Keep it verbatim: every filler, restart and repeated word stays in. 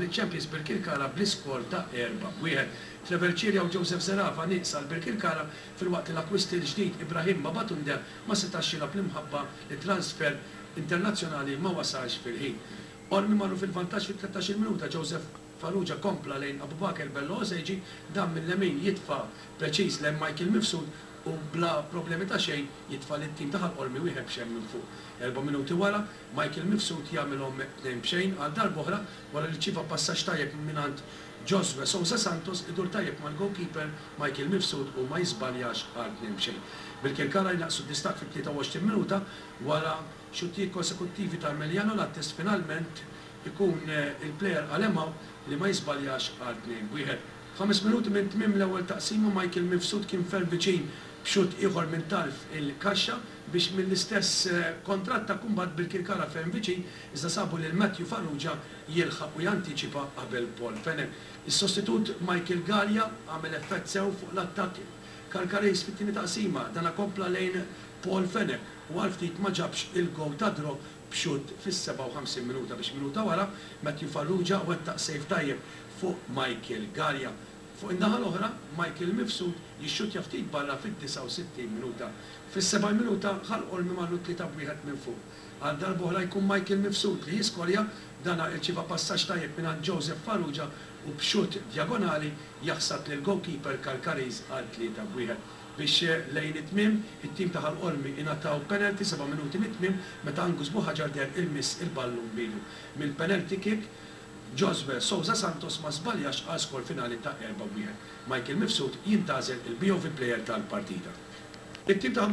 Liċ-champions Birkirkara bl-iskor ta' erba' b'wieħed. Trevor Cilia u Joseph Zerafa nieqsa għal Birkirkara, filwaqt li l-akkwist il-ġdid Ibrahim Babatunde ma setax jilgħab minħabba li transfer internazzjonali ma wasalx fil-ħin. Qormi marru fil-vantaġġ fit-tlettax-il minuta. Joseph Farrugia kompla lejn Abubakar Bello Oseji, dan mill-lemin jitfa' preċiż lejn Michael Mifsud u bla problemi ta' xejn jitfa' lit-tim ta' Ħal Qormi wieħed b'xejn minn fuq. Erba' minuti wara, Michael Mifsud jagħmilhom tnejn b'xejn għal darb'oħra wara li rċieva passaġġ tajjeb mingħand Josue Sousa Santos, idur tajjeb mal-goalkeeper Michael Mifsud u ma jiżbaljax għal tnejn b'xejn. Birkirkara jnaqqsu d-distakk fit-tlieta u għoxrin minuta wara xuttijiet konsekuttivi ta' Emiliano Lattes, finalment ikun il-plejer Alemao li ma jiżbaljax għal tnejn b'wieħed. Ħames minuti minn tmiem l-ewwel taqsima, Michael Mifsud kien ferm viċin b'xutt ieħor minn tarf il-kaxxa biex mill-istess kontrattakk imbagħad Birkirkara ferm viċin, iżda sabu lil Matthew Farrugia jilħaq u jantiċipa qabel Paul Fenech. Is-sostitut Michael Galea għamel effett sew fuq l-attakk Karkariż fit-tieni taqsima, dana kompla lejn Paul Fenech u għal ftit ma ġabx il-gowl ta' draw b'xutt fis-sebgħa u ħamsin minuta, biex minuta wara Matthew Farrugia wettaq save tajjeb fuq Michael Galea. Fuq in-naħa l-oħra, Michael Mifsud jixxuttja ftit barra fid-disgħa u sittin minuta. Fis-sebgħin minuta, Ħal Qormi marru tlieta b'wieħed minn fuq. Għal darb'oħra jkun Michael Mifsud li jiskorja, dana irċieva passaġġ tajjeb mingħand Joseph Farrugia u b'xutt djagonali jaħsad lill-goalkeeper Karkariż għal tlieta b'wieħed. Biex lejn it-tmiem, it-tim ta' Ħal Qormi ingħataw penalty seba' minuti mit-tmiem meta Angus Buhaġar deher ilmiss il-ballun b'idu. Mill-penalty kick, Josue Sousa Santos ma żbaljax għal skor finali ta' erba' b'wieħed. Michael Mifsud jintgħażel il-B O V player tal-partita. It-tim ta'